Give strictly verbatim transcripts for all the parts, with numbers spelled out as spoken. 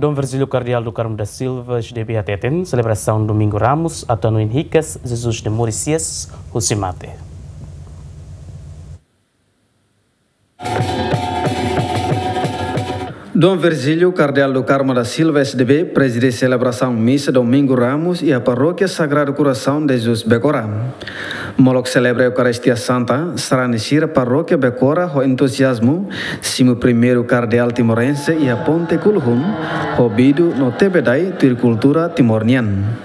Dom Virgílio Kardeál do Carmo da Silva, S D B, hateten selebrasaun Domingu Ramus atu hanoin hikas Jesus nia moris hi'as husi mate. Dom Virgílio Kardeál do Carmo da Silva, S D B, prezide selebrasaun misa Domingu Ramus iha Parókia Sagrado Coração de Jesus Becora. Molok selebra Eukaristia Santa, sarani sira Parókia Becora ho entuziazmu simu primeiru kardeál timorense iha Ponte Kuluhun, ho bidu no tebedai tuir kultura Timor nian.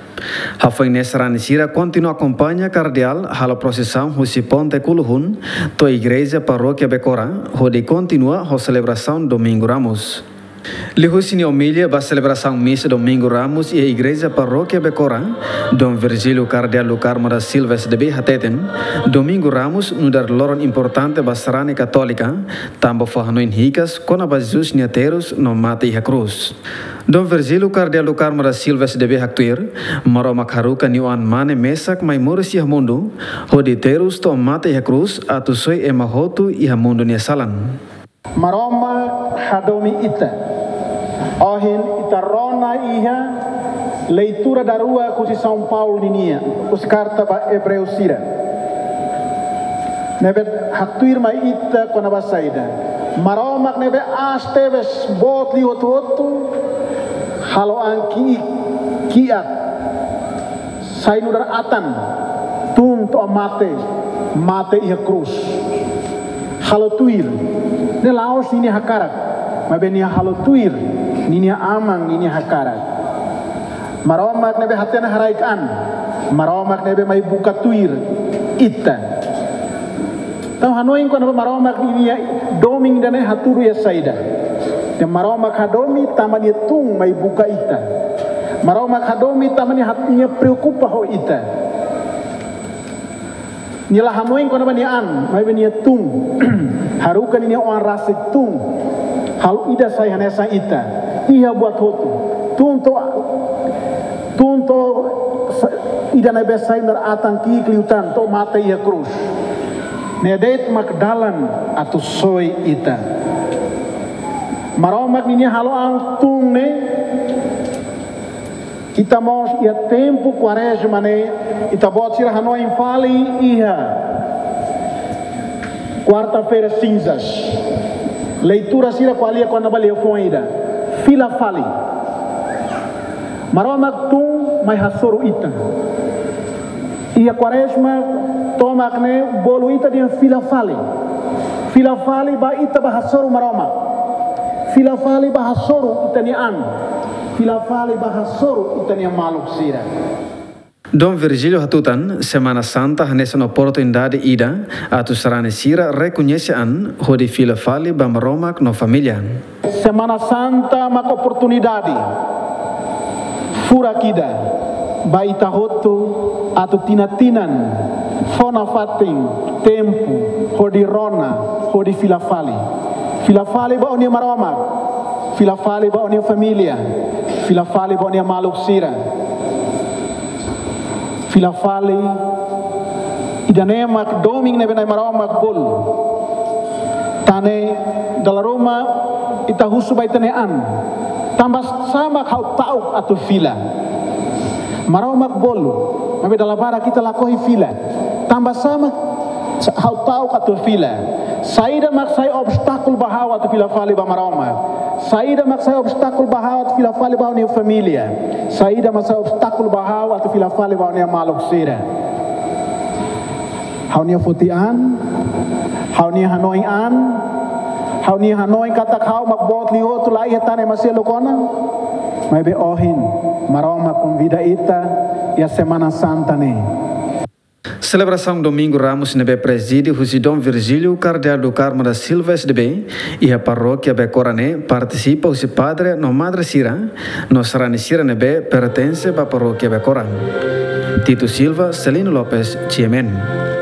Hafoin ne'e sarani sira kontinua akompaña kardeál halo prosisaun husi Ponte Kuluhun to'o igreja Parókia Becora, hodi kontinua ho selebrasaun Domingu Ramus. Liuhusi nia omilia ba selebrasaun misa Domingu Ramus iha igreja Parókia Becora, Dom Virgílio Kardeál do Carmo da Silva, S D B, hateten, Domingu Ramus nu'udar loron importante ba sarani katólika, tanba fó hanoin hikas kona-ba Jesus nia terus no mate iha krús. Dom Virgílio Kardeál do Carmo da Silva, S D B, haktuir, Maromak haruka nia Oan-Mane mesak mai moris iha mundu, hodi terus to'o mate iha krús atu soi ema hotu iha mundu nia salan. Maromak hadomi ita. Ohin ita rona iha leitura daruak husi São Paulo ninia, husi karta ba Ebreu sira. Ne'ebé haktuir mai ita kona-ba saida. Maromak ne'ebé aas tebes, boot liu hotu-hotu, halo an ki'ik, kiak, sai nu'udar atan, tun to'o mate, mate iha krús. Halo tuir, ne'e la'ós ninia hakarak, maibé nia halo tuir ninia Aman ninia hakarak. Maromak ne'ebé hatene haraik an, Maromak ne'ebé mai buka tuir ita. Entaun hanoin kona-ba Maromak ninia domin ida-ne'e hatudu iha saida. Ida Maromak hadomi tanba nia tun mai buka ita. Maromak hadomi tanba nia hat-, nia preokupa ho ita. Nia la hanoin kona-ba nia an, maibé nia tun. Haruka ninia oan rasik tun. Halo ida sai hanesan ita. Iha buat hotu. Tun to'o, tun to'o sa-, ida ne'ebé sai nu'udar atan ki'ik liután to'o mate iha krús. Ne'e de'it mak dalan atu soi ita. Maromak ninia halo an tun ne'e, ita mós iha tempu Kuarezma ne'e, ita-boot sira hanoin fali iha Quarta-feira Cinzas. Leitura sira ko'alia kona-ba liafuan ida. Fila fali. Maromak tun mai hasoru ita. Iha Kuarezma tomak ne'e bolu ita dehan fila fali. Fila fali ba ita bá hasoru Maromak. Fila fali bá hasoru ita-nia an. Fila fali bá hasoru ita-nia maluk sira. Dom Virgílio hatutan, Semana Santa hanesan oportunidade ida atu sarani sira rekoñese an hodi fila fali ba Maromak no família. Semana Santa mak oportunidade furak ida ba ita hotu atu tinan-tinan fó nafatin tempu hodi rona, hodi fila fali. Fila fali ba ó-nia Maromak, fila fali ba ó-nia família, fila fali ba ó-nia maluk sira. Fila fali, ida-ne'e mak domin ne'ebé Nai Maromak bolu. Tan ne'e, dala ruma ita husu ba ita-nia an. Tanbasá mak ha'u ta'uk atu fila? Maromak bolu, maibé dala barak ita lakohi fila. Tanbasá mak ha'u ta'uk atu fila? Saida mak sai obstákulu ba ha'u atu fila fali ba Maromak? Saida mak sai obstákulu ba ha'u atu fila fali ba ha'u-nia família? Saida mak sai obstákulu ba ha'u atu fila fali ba ha'u-nia maluk sira? Ha'u-nia foti an, ha'u-nia hanoin an, ha'u-nia hanoin katak ha'u mak boot liu hotu, la iha tan ema seluk ona. Maibé ohin, Maromak konvida ita iha Semana Santa ne'e. Selebrasaun Domingu Ramus ne'ebé prezide husi Dom Virgílio Kardeál do Carmo da Silva, S D B, iha Parókia Becora ne'e partisipa husi padre no madre sira, no sarani sira ne'ebé pertense ba Parókia Becora. Tito Silva, Celino Lopes, G M N.